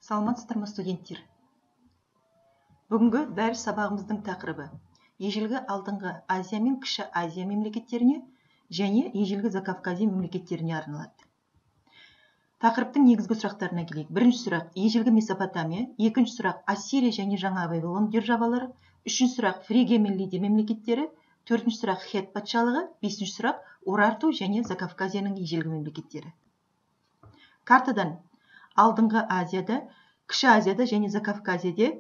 Саламатсыздар ма, студенттер? Бүгінгі дәріс сабағымыздың тақырыбы ежелгі алдыңғы Азия мен кіші Азия мемлекеттеріне және ежелгі Закавказия мемлекеттеріне арналады. Тақырыптың негізгі сұрақтарына келейік. Бірінші сұрақ ежелгі Месопотамия, екінші сұрақ Ассирия және Жаңа Вавилон державалары, үшінші сұрақ Фригия мен Лидия мемлекеттері, төртінші сұрақ Хет патшалығы, бесінші сұрақ Урарту және Закавказияның ежелгі мемлекеттері. Картадан алдыңғы Азияда, кіші Азияда және Закавказияда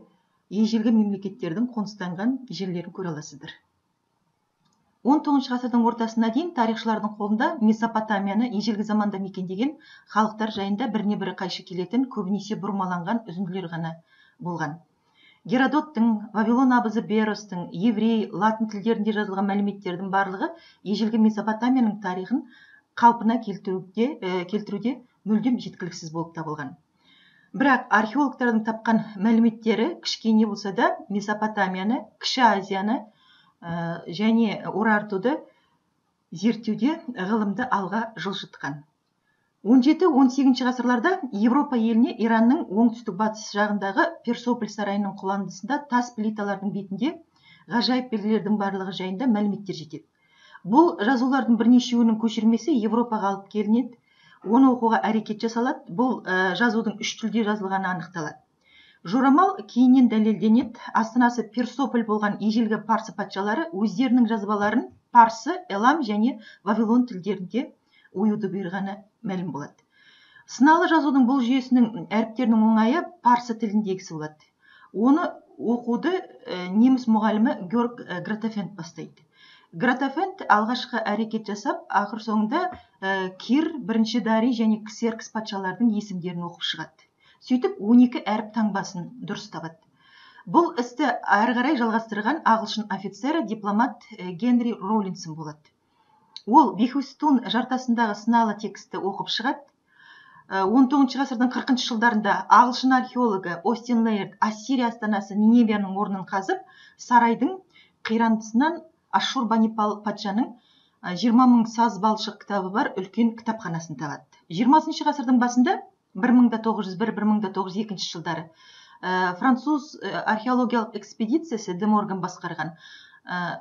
ежелгі мемлекеттердің қоныстанған жерлерін көре аласыздар. 19 ғасырдың ортасына дейін тарихшылардың қолында Месопотамияны ежелгі заманда мекендеген халықтар жайында біріне бірі қайшы келетін, көбінесе бұрмаланған үзінділер ғана болған. Геродоттың, Вавилон абызы Беростың, еврей, латын тілдерінде жазылған мәліметтердің барлығы ежелгі Месопотамияның тарихын қалпына келтіруде мүлдем жеткіліксіз болып табылған. Бірақ археологтардың тапқан мәліметтері кішкене болса да Месопотамияны, кіші Азияны және Урартуды зерттеуде ғылымды алға жылжытқан. 17-18 ғасырларда Европа еліне Иранның оңтүстік-батыс жағындағы Персополь сарайының құландысында тас плиталардың бетінде ғажайып белгілердің барлығы жайында мәліметтер жетеді. Бұл жазулардың бірнешеуінің көшірмесі Европаға алып келінеді, оны оқуға әрекет жасалады. Бұл жазудың үш тілде жазылғаны анықталады. Жорамал кейіннен дәлелденеді. Астанасы Персополь болған ежелгі парсы патшалары өздерінің жазбаларын парсы, элам және вавилон тілдерінде оюды бұйырғаны мәлім болады. Сыналы жазудың бұл жүйесінің әріптерінің оңайы парсы тіліндегісі болады. Оны оқуды неміс мұғалімі Георг Гратафент бастайды. Гратафент алғашқы әрекет жасап, ақыр соңында Кир, бірінші Дарий және Ксеркс патшалардың есімдерін оқып шығады. Сөйтіп 12 әріп таңбасын дұрыс табады. Бұл істі әрі қарай жалғастырған ағылшын офицері дипломат Генри Роулинсон болады. Ол Бехустун жартасындағы сыналы тексті оқып шығады. 19 ғасырдың 40 жылдарында ағылшын археологы Остин Лейерд Ассирия астанасы Ниневияның орнын қазып, сарайдың қирандысынан Ашшурбанипал патшаның 20 000 саз балшық кітабы бар үлкен кітапханасын табады. 20 ғасырдың басында 1901-1902 жылдары француз археологиялық экспедициясы Де Морган басқарған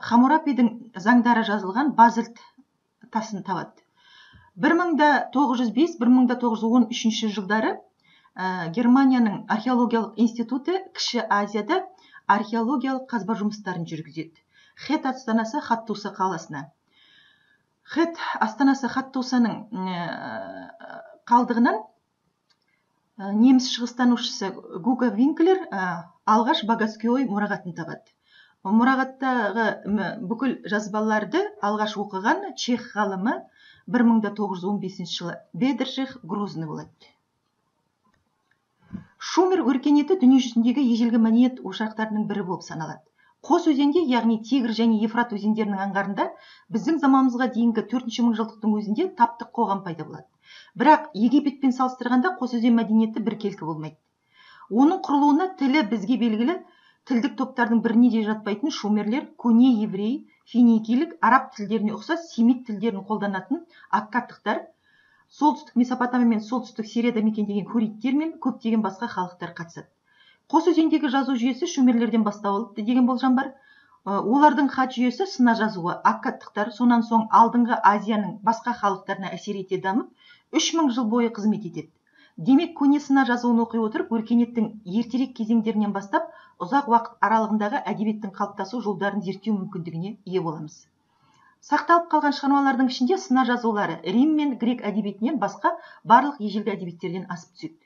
Хамурапидің заңдары жазылған базальт тасын табады. 1905-1913 жылдары Германияның археологиялық институты кіші Азияда археологиялық қазба жұмыстарын жүргізеді. Хет астанасы Хаттуса қаласына. Хет астанасы Хаттусаның қалдығынан неміс шығыстанушысы Гуга Винклер алғаш Багаскиой мұрағатын табады. Мұрағаттағы бүкіл жазбаларды алғаш оқыған чех ғалымы 1915 жылы Бедрших Грозный болады. Шумер өркениеті дүниежүзіндегі ежелгі мәдениет ошақтарының бірі болып саналады. Қос өзенде, яғни Тигр және Ефрат өзендерінің аңғарында біздің заманымызға дейінгі 4-ші мыңжылдықтың өзінде таптық қоғам пайда болады. Бірақ Египетпен салыстырғанда қос өзен мәдениеті біркелкі болмайды. Оның құрылуына тілі бізге белгілі тілдік топтардың біріне де жатпайтын шумерлер, көне еврей, финикийлік, араб тілдеріне ұқсас семит тілдерін қолданатын аккадтықтар, солтүстік Месопотамия мен солтүстік Сирияда мекендеген хуриттер мен көптеген басқа халықтар қатысады. Қос өзендегі жазу жүйесі шумерлерден басталды деген болжам бар. Олардың хат жүйесі сына жазуы, аккадтықтар сонан соң алдыңғы Азияның басқа халықтарына әсер ете дамып, 3000 жыл бойы қызмет етеді. Демек, көне сына жазуын оқи отырып, өркениеттің ертерек кезеңдерінен бастап, ұзақ уақыт аралығындағы әдебиеттің қалыптасу жолдарын зерттеу мүмкіндігіне ие боламыз. Сақталып қалған шығармалардың ішінде сына жазулары Рим мен грек әдебиетінен басқа барлық ежелгі әдебиеттерден асып түседі.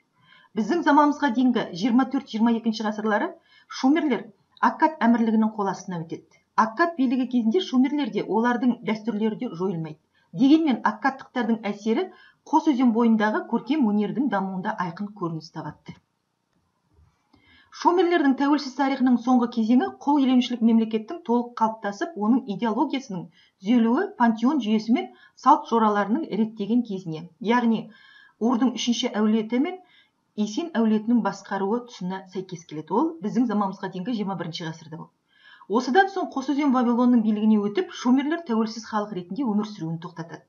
Біздің заманымызға дейінгі 24-22 ғасырлары шумерлер Аккад әмірлігінің қол астына өтеді. Аккад билігі кезінде шумерлерде олардың дәстүрлері де жойылмайды. Дегенмен аккадтықтардың әсері қос өзен бойындағы көркем өнердің дамуында айқын көрініс табады. Шумерлердің тәуелсіз тарихының соңғы кезеңі құл иеленушілік мемлекеттің толық қалыптасып, оның идеологиясының түзелуі пантеон жүйесі мен салт жораларының реттеген кезіне, яғни Урдың 3-ші әулеті мен Исин әулетінің басқаруы тұсына сәйкес келеді. Ол біздің заманымызға дейінгі 21 ғасырда болды. Осыдан соң қос өзен Вавилонның билігіне өтіп, шумерлер тәуелсіз халық ретінде өмір сүруін тоқтатады.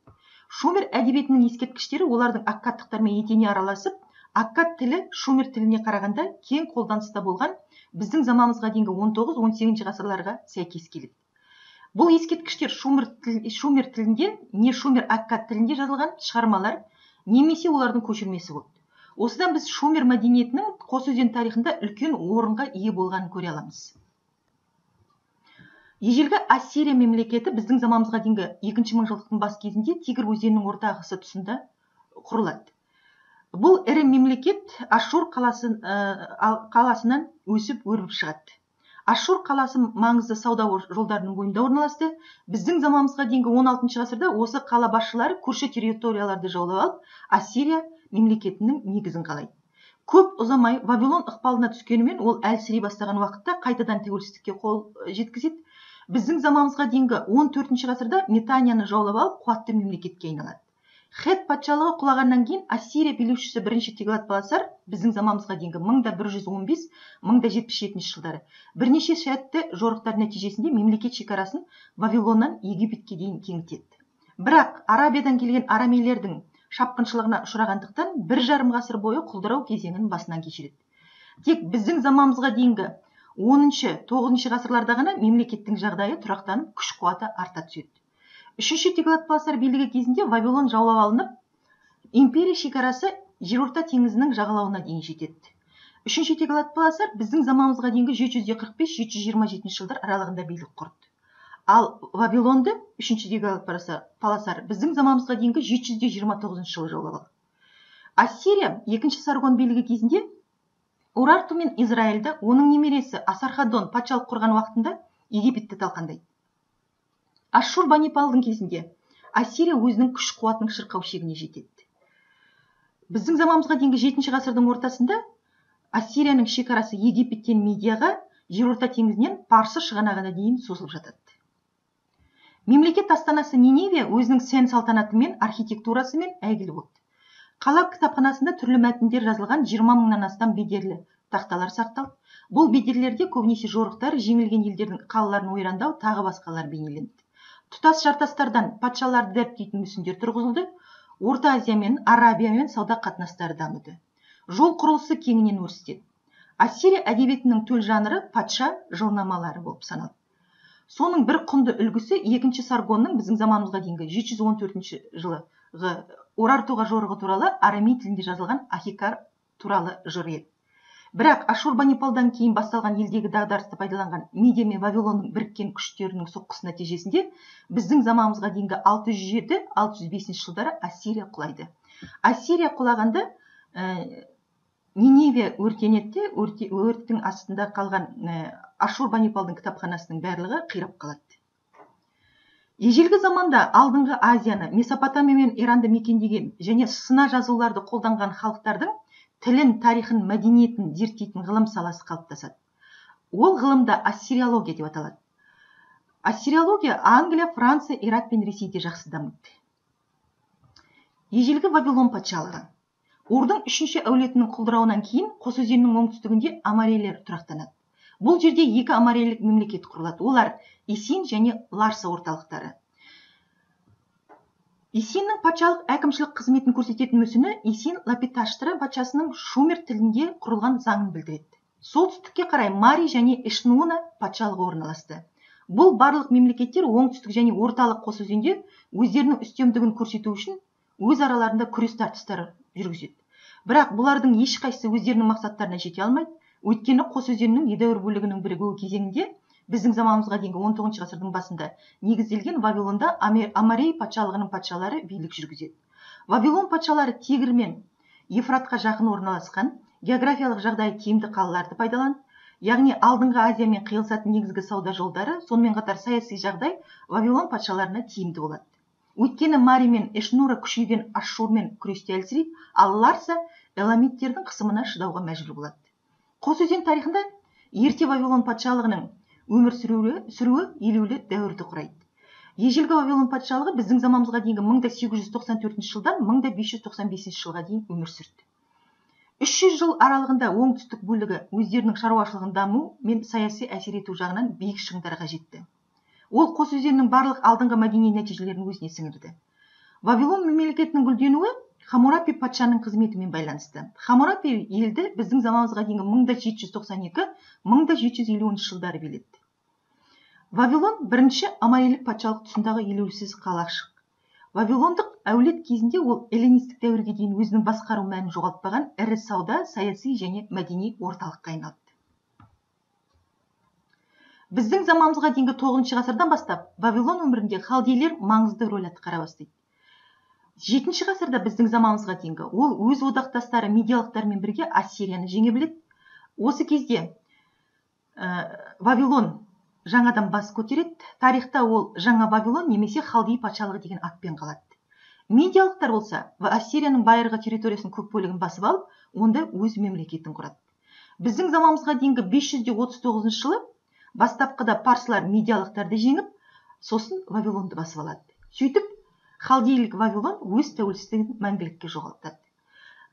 Шумер әдебиетінің ескерткіштері олардың аккадтықтармен етене араласып, аккад тілі шумер тіліне қарағанда кең қолданыста болған біздің заманымызға дейінгі 19-18 ғасырларға сәйкес келеді. Бұл ескерткіштер шумер тілінде не шумер аккад тілінде жазылған шығармалар немесе олардың көшірмесі болды. Осыдан біз шумер мәдениетінің қос өзен тарихында үлкен орынға ие болғанын көре аламыз. Ежелгі Ассирия мемлекеті біздің заманымызға дейінгі 2-ші мыңжылдықтың бас кезінде Тигр өзенінің орта ағысы тұсында құрылады. Бұл ірі мемлекет Ашур қаласынан өсіп өрбіп шығады. Ашур қаласы маңызды сауда жолдарының бойында орналасты. Біздің заманымызға дейінгі 16-шы ғасырда осы қала басшылары көрші территорияларды жаулап алып, Ассирия мемлекетінің негізін қалайды. Көп ұзамай Вавилон ықпалына түскенімен ол әлсірей бастаған уақытта қайтадан тәуелсіздікке қол жеткізеді. Біздің заманымызға дейінгі 14-ші ғасырда Метанияны жаулап алып, қуатты мемлекетке айналады. Хет патшалығы құлағаннан кейін Ассирия билеушісі бірінші Теглат-Паласар біздің заманымызға дейінгі 1115-1077 жылдары бірнеше сәтті жорықтар нәтижесінде мемлекет шекарасын Вавилоннан Египетке дейін кеңітеді. Бірақ Арабиядан келген арамейлердің шапқыншылығына ұшырағандықтан 1,5 ғасыр бойы құлдырау кезеңін басынан кешіреді. Тек біздің заманымызға дейінгі 10-9 ғасырларда ғана мемлекеттің жағдайы тұрақтанып, күш-қуаты арта түседі. Үшінші Теглат-Паласар билігі кезінде Вавилон жаулап алынып, империя шекарасы Жерорта теңізінің жағалауына дейін жетеді. Үшінші Теглат-Паласар біздің заманымызға дейінгі 745-727 жылдар аралығында билік құрды. Ал Вавилонды үшінші Теглат-Паласар біздің заманымызға дейінгі 729 жылы жаулап алды. Ассирия екінші Саргон билігі кезінде Урарту мен Израильді оның немересі Асархадон патшалық құрған уақытында Египетті талқандайды. Ашшурбанипалдың кезінде Ассирия өзінің күш-қуатының шырқау шегіне жетеді. Біздің заманымызға дейінгі 7-ші ғасырдың ортасында Ассирияның шекарасы Египеттен Медияға, Жерорта теңізінен Парсы шығанағына дейін созылып жатады. Мемлекет астанасы Ниневия өзінің сән салтанатымен, архитектурасымен әйгілі болды. Қала кітапханасында түрлі мәтіндер жазылған 20 мыңнан астам бедерлі тақталар сақталды. Бұл бедерлерде көбінесе жорықтар, жеңілген елдердің қалаларын ойрандау, тағы басқалар бейнеленді. Тұтас жартастардан патшаларды дәріптейтін мүсіндер тұрғызылды. Орта Азия мен Арабиямен сауда қатынастары дамыды. Жол құрылысы кеңінен өрістеді. Ассирия әдебиетінің төл жанры патша жылнамалары болып саналды. Соның бір құнды үлгісі 2-ші Саргонның біздің заманымызға дейінгі 714 жылғы Урартуға жорығы туралы арамей тілінде жазылған Ахикар туралы жыр еді. Бірақ Ашурбанипалдан кейін басталған елдегі дағдарысты пайдаланған Медия мен Вавилонның біріккен күштерінің соққысы нәтижесінде біздің заманымызға дейінгі 607-605 жылдары Ассирия құлайды. Ассирия құлағанда Ниневия өртенеді, өрттің астында қалған Ашурбанипалдың кітапханасының барлығы қирап қалады. Ежелгі заманда алдыңғы Азияны, Месопотамия мен Иранды мекендеген және сына жазуларды қолданған халықтардың тілін, тарихын, мәдениетін зерттейтін ғылым саласы қалыптасады. Ол ғылымда ассириология деп аталады. Ассириология Англия, Франция, Ирак пен Ресейде жақсы дамыды. Ежелгі Вавилон патшалығы. Урдың 3-ші әулетінің құлдырауынан кейін Қос өзеннің оңтүстігінде амарейлер тұрақтанады. Бұл жерде 2 амарейлік мемлекет құрылады. Олар Исин және Ларса орталықтары. Исиннің патшалық әкімшілік қызметін көрсететін мүсіні Исин Лапиташтра патшасының шумер тілінде құрылған заңын білдіреді. Солтүстікке қарай Мари және Эшнуна патшалығы орналасты. Бұл барлық мемлекеттер оңтүстік және орталық Қос өзенде өздерінің үстемдігін көрсету үшін өз араларында күрес тартыстары жүргізеді. Бірақ бұлардың ешқайсысы өздерінің мақсаттарына жете алмайды. Өйткені Қос өзенінің едәуір бөлігінің бірігуі кезеңінде біздің заманымызға дейінгі 19 ғасырдың басында негізделген Вавилонда Амарей патшалығының патшалары билік жүргізеді. Вавилон патшалары Тигр мен Ефратқа жақын орналасқан, географиялық жағдайы тиімді қалаларды пайдаланды. Яғни алдыңғы Азиямен қиылысатын негізгі сауда жолдары, сонымен қатар саяси жағдай Вавилон патшаларына тиімді болады. Өйткені Мари мен Эшнура күшейген Ашшурмен күресте әлсірейді, ал Ларса эламиттердің қысымына шыдауға мәжбүр болады. Қос өзен тарихында ерте Вавилон патшалығының өмір сүруі елеулі дәуірді құрайды. Ежелгі Вавилон патшалығы біздің заманымызға дейінгі 1894 жылдан 1595 жылға дейін өмір сүрді. 300 жыл аралығында оңтүстік бөлігі өздерінің шаруашылығын даму мен саяси әсер ету жағынан биік шыңдарға жетті. Ол Қос өзеннің барлық алдыңғы мәдени нәтижелерін өзіне сіңірді. Вавилон мемлекетінің гүлденуі Хаммурапи патшаның қызметімен байланысты. Хаммурапи елді біздің заманымызға дейінгі 1792-1750 жылдары билетті. Вавилон бірінші амалилік патшалық тұсындағы елеусіз қалашық. Вавилондық әулет кезінде ол эллинистік дәуірге дейін өзінің басқару мәнін жоғалтпаған ірі сауда, саяси және мәдени орталыққа айналды. Біздің заманымызға дейінгі 9 ғасырдан бастап Вавилон өмірінде халдейлер маңызды рөл атқара бастайды. 7 ғасырда біздің заманымызға дейінгі ол өз одақтастары медиялықтармен бірге Ассирияны жеңе біледі. Осы кезде Вавилон жаңадан бас көтереді. Тарихта ол жаңа Вавилон немесе халдей патшалығы деген атпен қалады. Медиялықтар болса Ассирияның байырғы территориясының көп бөлігін басып алып, онда өз мемлекетін құрады. Біздің заманымызға дейінгі 539 жылы бастапқыда парсылар медиялықтарды жеңіп, сосын Вавилонды басып алады. Сөйтіп, халдейлік Вавилон өз тәуелсіздігін мәңгілікке жоғалтады.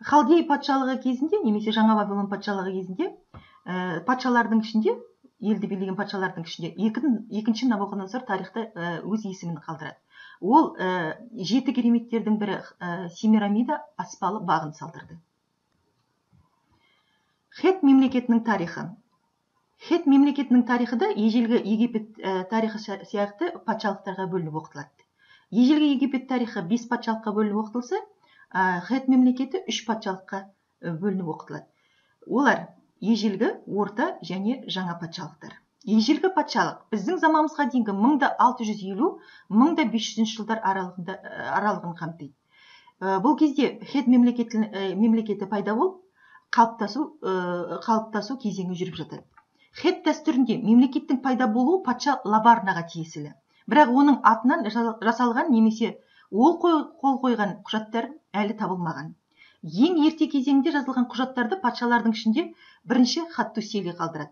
Халдей патшалығы кезінде немесе жаңа Вавилон патшалығы кезінде патшалардың ішінде, елді билеген патшалардың ішінде екінші Навуходоносор тарихта өз есімін қалдырады. Ол 7 кереметтердің бірі Семирамида аспалы бағын салдырды. Хет мемлекетінің тарихы. Хет мемлекетінің тарихы да ежелгі Египет тарихы сияқты патшалықтарға бөлініп оқытылады. Ежелгі Египет тарихы 5 патшалыққа бөлініп оқытылса, Хет мемлекеті 3 патшалыққа бөлініп оқытылады. Олар ежелгі, орта және жаңа патшалықтар. Ежелгі патшалық біздің заманымызға дейінгі 1650-1500 жылдар аралығын қамтиды. Бұл кезде Хет мемлекеті пайда болып, қалыптасу кезеңі жүріп жатады. Хет дәстүрінде мемлекеттің пайда болуы патша Лабарнаға тиесілі. Бірақ оның атынан жасалған немесе ол қол қойған құжаттар әлі табылмаған. Ең ерте кезеңде жазылған құжаттарды патшалардың ішінде бірінші Хаттусили қалдырады.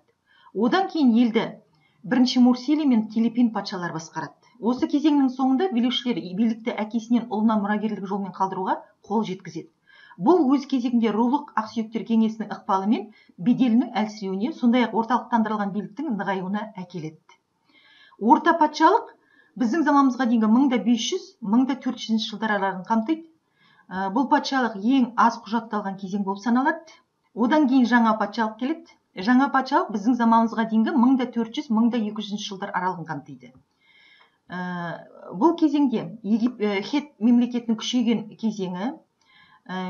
Одан кейін елді бірінші Мурсили мен Телепин патшалар басқарады. Осы кезеңнің соңында билеушілер билікті әкесінен ұлына мұрагерлік жолмен қалдыруға қол жеткізеді. Бұл өз кезегінде рулық ақсүйектер кеңесінің ықпалымен беделінің әлсіреуіне, сондай-ақ орталықтандырылған биліктің нығаюына әкеледі. Орта патшалық біздің заманымызға дейінгі 1500-1400 жылдар аралығын қамтиды. Бұл патшалық ең аз құжатталған кезең болып саналады. Одан кейін жаңа патшалық келеді. Жаңа патшалық біздің заманымызға дейінгі 1400-1200 жылдар аралығын қамтиды. Бұл кезеңде Хет мемлекетінің күшейген кезеңі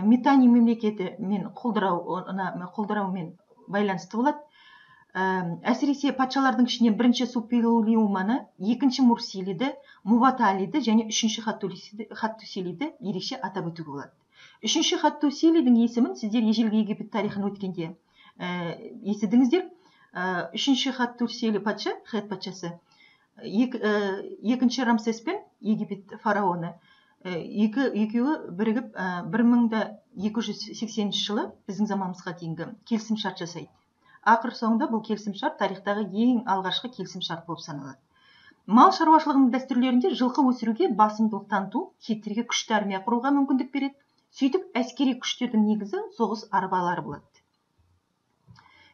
Митани мемлекеті мен құлдыраумен байланысты болады. Әсіресе патшалардың ішінен бірінші Супилулиуманы, екінші Мурсилиді, Муваталиді және үшінші Хаттусилиді ерекше атап өтуге болады. Үшінші Хаттусилидің есімін сіздер ежелгі Египет тарихын өткенде естідіңіздер. Үшінші Хаттусили патша, Хет патшасы, екінші Рамсес пен Египет фараоны екеуі бірігіп 1280 жылы біздің заманымызға дейінгі келісім шарт жасайды. Ақыр соңында бұл келісім шарт тарихтағы ең алғашқы келісім шарт болып саналады. Мал шаруашылығының дәстүрлерінде жылқы өсіруге басымдылық таныту хеттерге күшті армия құруға мүмкіндік береді. Сөйтіп, әскери күштердің негізі соғыс арбалары болады.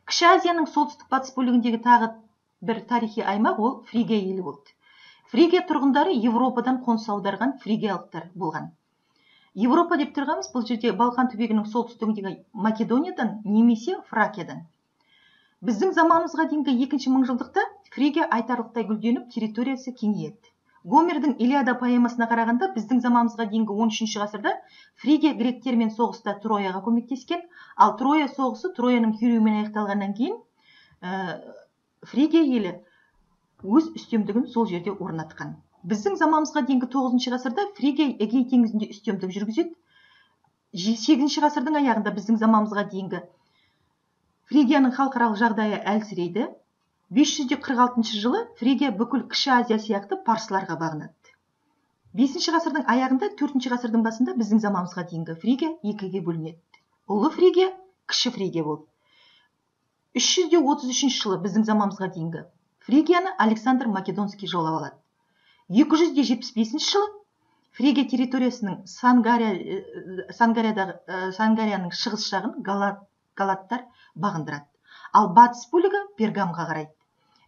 Кіші Азияның солтүстік батыс бөлігіндегі тағы бір тарихи аймақ ол Фригия елі болды. Фригия тұрғындары Европадан қоныс аударған фригиялықтар болған. Европа деп тұрғанымыз бұл жерде Балқан түбегінің солтүстігіндегі Македониядан немесе Фракиядан. Біздің заманымызға дейінгі 2-ші мыңжылдықта Фригия айтарлықтай гүлденіп, территориясы кеңейеді. Гомердің Илиада поэмасына қарағанда біздің заманымызға дейінгі 13-ші ғасырда Фригия гректермен соғыста Трояға көмектескен, ал Троя соғысы Трояның күйреуімен аяқталғаннан кейін Фригия елі өз үстемдігін сол жерде орнатқан. Біздің заманымызға дейінгі 9-ші ғасырда Фригия Эгей теңізінде үстемдік жүргізеді. 8-ші ғасырдың аяғында біздің заманымызға дейінгі Фригияның халықаралық жағдайы әлсірейді. 546 жылы Фригия бүкіл Кіші Азия сияқты парсыларға бағынады. 5-ші ғасырдың аяғында 4-ші ғасырдың басында біздің заманымызға дейінгі Фригия екіге бөлінеді. Ұлы Фригия, Кіші Фригия болып. 333 жылы біздің заманымызға дейінгі Фригияны Александр Македонский жаулап алады. 275 жылы Фригия территориясының Сангарияның шығыс жағын галаттар бағындырады. Ал батыс бөлігі Пергамға қарайды.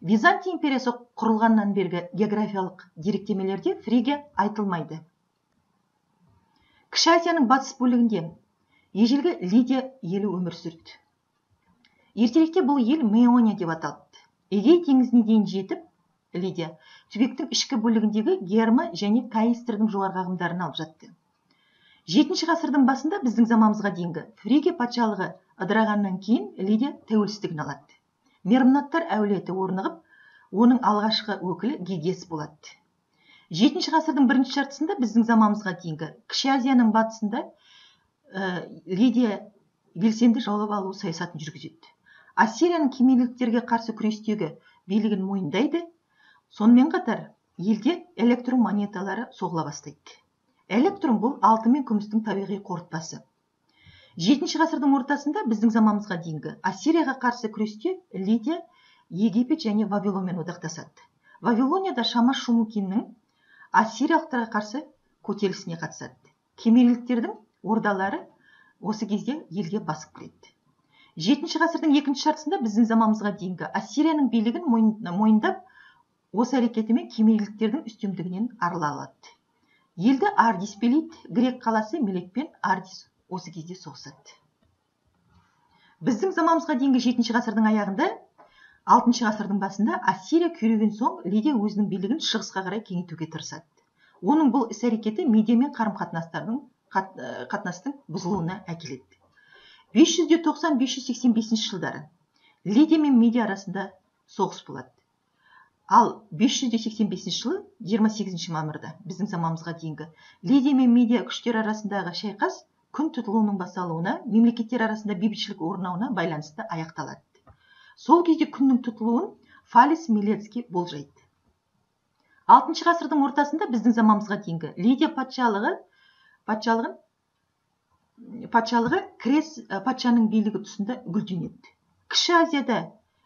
Византия империясы құрылғаннан бергі географиялық деректемелерде Фригия айтылмайды. Кіші Азияның батыс бөлігінде ежелгі Лидия елі өмір сүрді. Ертеректе бұл ел Меония деп аталды. Эгей теңізіне дейін жетіп, Лидия түбектің ішкі бөлігіндегі Герма және Каистрдің жоғарғы ағымдарын алып жатты. 7 ғасырдың басында біздің заманымызға дейінгі Фригия патшалығы ыдырағаннан кейін Лидия тәуелсіздігін алады. Мермнаттар әулеті орнығып, оның алғашқы өкілі Гегес болады. 7 ғасырдың бірінші жартысында біздің заманымызға дейінгі Кіші Азияның батысында Лидия белсенді жаулап алу саясатын жүргізеді. Ассирияның кемелдіктерге қарсы күрестегі билігін мойындайды. Сонымен қатар елде электрон монеталары соғыла бастайды. Электрон бұл алтын мен күмістің табиғи қорытпасы. 7 ғасырдың ортасында біздің заманымызға дейінгі Ассирияға қарсы күресте Лидия Египет және Вавилонмен одақтасады. Вавилонияда Шамаш Шумукиннің ассириялықтарға қарсы көтерілісіне қатысады. Кемелдіктердің ордалары осы кезде елге басып кіреді. 7 ғасырдың екінші жартысында біздің заманымызға дейінгі Ассирияның билігін мойындап, осы әрекетімен кемелдіктердің үстемдігінен арыла алады. Елді Ардис билейді, грек қаласы Мелекпен Ардис осы кезде соғысады. Біздің заманымызға дейінгі 7 ғасырдың аяғында, 6 ғасырдың басында Ассирия күйреген соң Лидия өзінің билігін шығысқа қарай кеңейтуге тырысады. Оның бұл іс-әрекеті Медиямен қарым-қатынастың бұзылуына әкеледі. 590-585 жылдары Лидия мен Медия арасында соғыс болады. Ал 585 жылы 28 мамырда біздің заманымызға дейінгі Лидия мен Медия күштер арасындағы шайқас күн тұтылуының басталуына, мемлекеттер арасында бейбітшілік орнауына байланысты аяқталады. Сол кезде күннің тұтылуын Фалес Милецкий болжайды. 6 ғасырдың ортасында біздің заманымызға дейінгі Лидия патшалығы Крес патшаның билігі тұсында гүлденеді. Кіші Азияда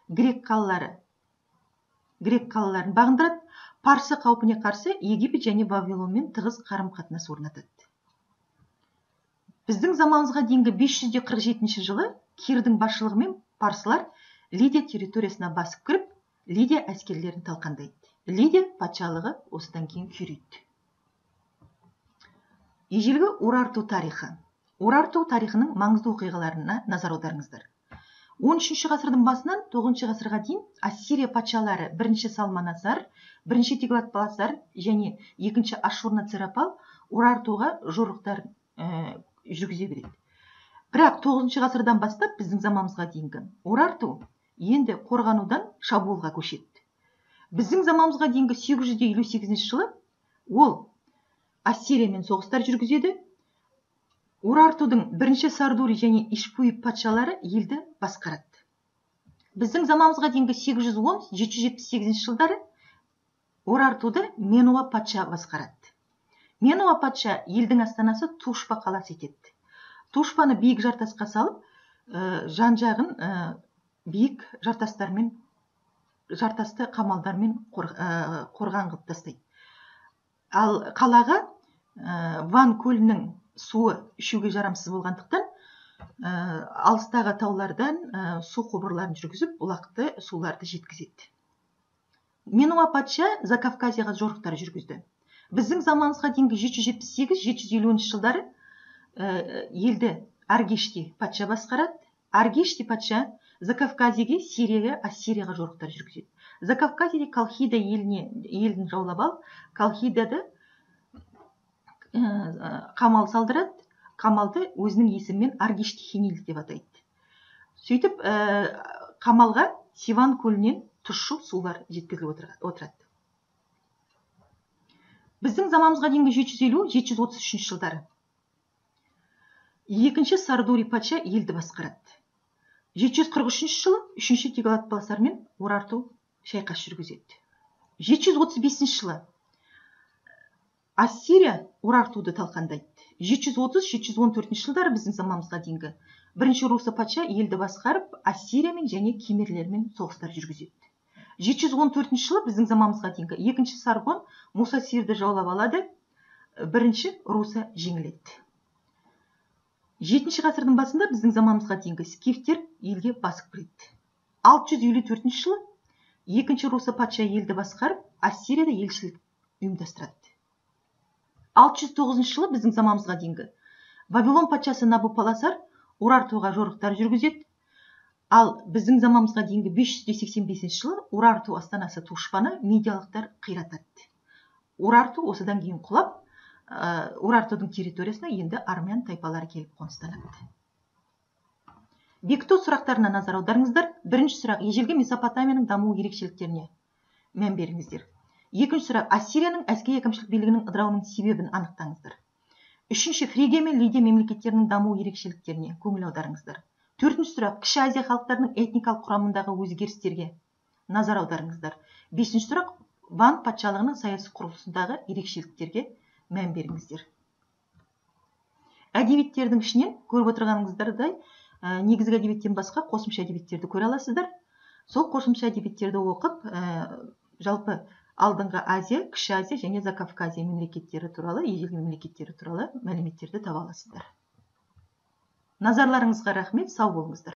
грек қалаларын бағындырады, Парсы қаупіне қарсы Египет және Вавилонмен тығыз қарым-қатынас орнатады. Біздің заманымызға дейінгі 547 жылы Кирдің басшылығымен парсылар Лидия территориясына басып кіріп, Лидия әскерлерін талқандайды. Лидия патшалығы осыдан кейін күйрейді. Ежелгі Урарту тарихы. Урарту тарихының маңызды оқиғаларына назар аударыңыздар. 13 ғасырдың басынан 9 ғасырға дейін Ассирия патшалары 1 Салманасар, 1 Теглат-Паласар және 2 Ашшурнацирапал Урартуға жорықтар жүргізе береді. Бірақ 9 ғасырдан бастап біздің заманымызға дейінгі Урарту енді қорғанудан шабуылға көшеді. Біздің заманымызға дейінгі 858 жылы ол Ассириямен соғыстар жүргізеді. Урартудың 1 Сардури және Ишпуи патшалары елді басқарады. Біздің заманымызға дейінгі 810-778 жылдары Урартуды Менуа патша басқарады. Менуа патша елдің астанасы Тушпа қаласы етеді. Тушпаны биік жартасқа салып, жан-жағын биік жартасты қамалдармен қорған қылып тастайды. Ал қалаға Ван көлінің суы ішуге жарамсыз болғандықтан, алыстағы таулардан су құбырларын жүргізіп, бұлақты суларды жеткізеді. Менуа патша Закавказияға жорықтар жүргізді. Біздің заманымызға дейінгі 778-750 жылдары елді Аргешти патша басқарады. Аргешти патша Закавказияға, Сирияға, Ассирияға жорықтар жүргізеді. Закавказияда Колхида елін жаулап алып, Колхидады қамал салдырады. Қамалды өзінің есімімен Аргешти Хенил деп атайды. Сөйтіп, қамалға Сиван көлінен тұщы сулар жеткізіліп отырады. Біздің заманымызға дейінгі 750-733 жылдары 2 Сардури патша елді басқарады. 743 жылы 3 Теглат-Паласар мен Урарту шайқас жүргізеді. 735 жылы Ассирия Урартуды талқандайды. 730-714 жылдары біздің заманымызға дейінгі 1 Руса патша елді басқарып, Ассириямен және кемерлермен соғыстар жүргізеді. 714 жылы біздің заманымызға дейінгі 2 Саргон Мусасирді жаулап алады, 1 Руса жеңіледі. 7 ғасырдың басында біздің заманымызға дейінгі скифтер елге басып кіреді. 654 жылы 2 Руса патша елді басқарып, Ассирияда елшілік ұйымдастырады. 609 жылы біздің заманымызға дейінгі Вавилон патшасы Набопаласар Урартуға жорықтар жүргізеді. Ал біздің заманымызға дейінгі 585 жылы Урарту астанасы Тушпаны медиалықтар қиратады. Урарту осыдан кейін құлап, Урартудың территориясына енді армян тайпалары келіп қоныстанады. Бекіту сұрақтарына назар аударыңыздар. Бірінші сұрақ: ежелгі Месопотамияның даму ерекшеліктеріне мән беріңіздер. Екінші сұрақ: Ассирияның әскери әкімшілік билігінің ыдырауының себебін анықтаңыздар. Үшінші: Фригия мен Лидия мемлекеттерінің даму ерекшеліктеріне көңіл аударыңыздар. Төртінші сұрақ: Кіші Азия халықтарының этникалық құрамындағы өзгерістерге назар аударыңыздар. Бесінші сұрақ: Ван патшалығының саяси құрылысындағы ерекшеліктерге мән беріңіздер. Әдебиеттердің ішінен көріп отырғаныңыздардай, негізгі әдебиеттен басқа қосымша әдебиеттерді көре аласыздар. Сол қосымша әдебиеттерді оқып, жалпы алдыңғы Азия, Кіші Азия және Закавказия мемлекеттері туралы, ежелгі мемлекеттері туралы мәліметтерді таба аласыздар. Назарларыңызға рахмет, сау болыңыздар.